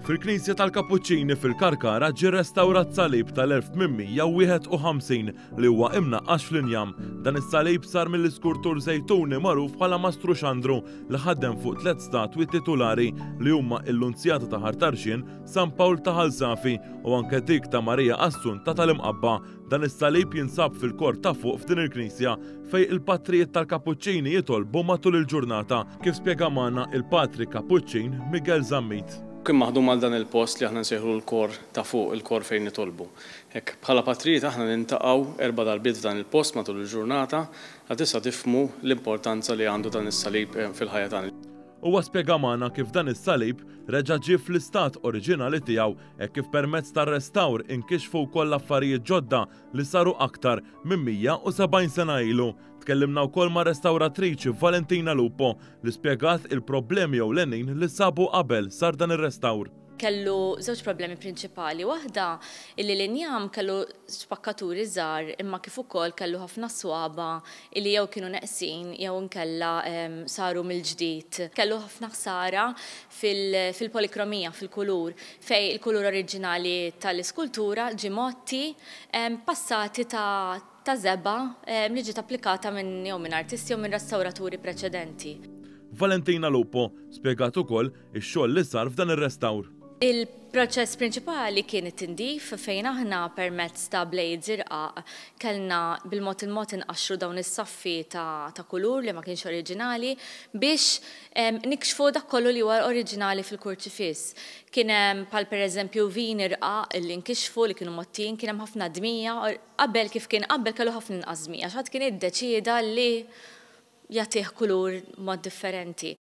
Fil-Knisja tal-Kapuċċini fil-Karkara ġie restawrat salib tal-1851 li huwa imnaqqax fl-injam. Dan is-salib sar mill-iskultur Żejtuni magħruf bħala Mastru Xandru li ħadem fuq tliet statwi titulari li huma il-Lunzjata ta' Ħar Tarxien, San Pawl ta' Ħal Safi u anke dik ta' Marija Assunta tal-Imqabba. Dan is-salib jinsab fil-kor ta' fuq f'din il-knisja fejn il-patrijiet tal-Kapuċċini jitolbu matul il-ġurnata, kif spjega magħna il-Patri Kapuċċin Miguel Zammit. Kien maħdum għal dan il-post li aħna nsejħulu l-kor ta' fuq, il-kor fejn nitolbu. Hekk, bħala patrijiet aħna niltaqgħu erba' darbiet f'dan il-post matul il-ġurnata, għad issa tifhmu l-importanza li għandu dan is-salib fil-ħajja tagħna. Huwa spjega magħna kif dan is-salib reġa' ġie fl-istat oriġinali tiegħu hekk kif permezz tar-restawr inkixfu wkoll affarijiet ġodda li saru aktar minn 170 sena ilu. Tkellimna wkoll mar-restawratriċi Valentina Lupo li spjegat il-problemi ewlenin li sabu qabel sar dan ir-restawr. Kellu żewġ problemi prinċipali. Waħda illi l-injam kellu spakkaturi żgħar imma kif ukoll kellu ħafna swaba illi jew kienu neqsin jew inkella saru mill-ġdid. Kellu ħafna ħsara fil-polikromija, fil-kulur, fejn il-kulur oriġinali tal-iskultura ġie mgħotti passati ta' ta' żebgħa li ġiet applikata minn jew minn artisti jew minn restawraturi preċedenti. Valentina Lupo spjegat ukoll ix-xogħol li sar f'dan ir-restawr. Il-proċess prinċipali kien it-tindif fejn aħna permezz ta' blades irqaq kellna bil-mod il-mod inqaxxru dawn is-saffi ta' ta' kulur li ma kienx oriġinali biex nikxfu dak kollu li huwa oriġinali fil-kurċifiss. Kien hemm bħal pereżempju vini rqaq li nkixfu li kienu mgħottijin, kien hemm ħafna dmija. Qabel kif kien qabel kellu ħafna inqas dmija għax ħadd kien iddeċieda li jagħtih kulur mod differenti.